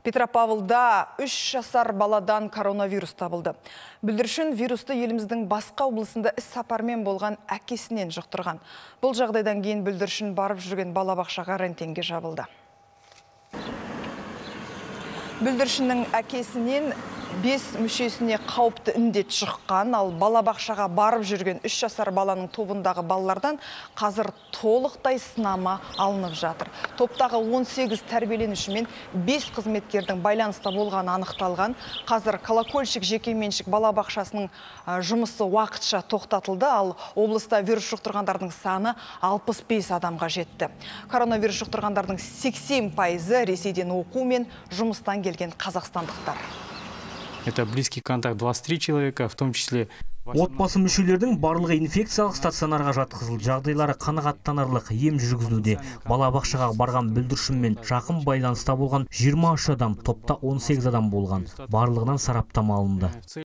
Петропавлда 3 жасар баладан коронавирус табылды. Бүлдіршін вирусты еліміздің басқа облысында іс сапармен болған әкесінен жұқтырған. Бұл жағдайдан кейін бүлдіршін барып жүрген балабақшаға карантинге жабылды. Бүлдіршіннің әкесінен 5 мүшесіне қауіпті індет шыққан, ал балабақшаға барып жүрген 3 жасар баланың тобындағы балалардан қазір толықтай сынама алынып жатыр. Топтағы 18 тәрбиеленуші мен 5 қызметкердің байланыста болғаны анықталған. Қазір Колокольчик жекеменшік балабақшасының жұмысы уақытша тоқтатылды, ал облыста вирус жұқтырғандардың саны 65 адамға жетті. Коронавирус жұқтырғандардың 80% Ресейден оқу мен жұмыстан келген қазақстандықтар. Это близкий контакт 23 человека, в том числе... Отбасы мүшелердің барлығы инфекциялық стационарға жатқызылды. Жағдайлары қанағаттанарлық, ем жүргізілуде. Балабақшаға барған бүлдіршінмен жақын байланыста болған 23 адам, топта 18 адам болған. Барлығынан сараптама алынды.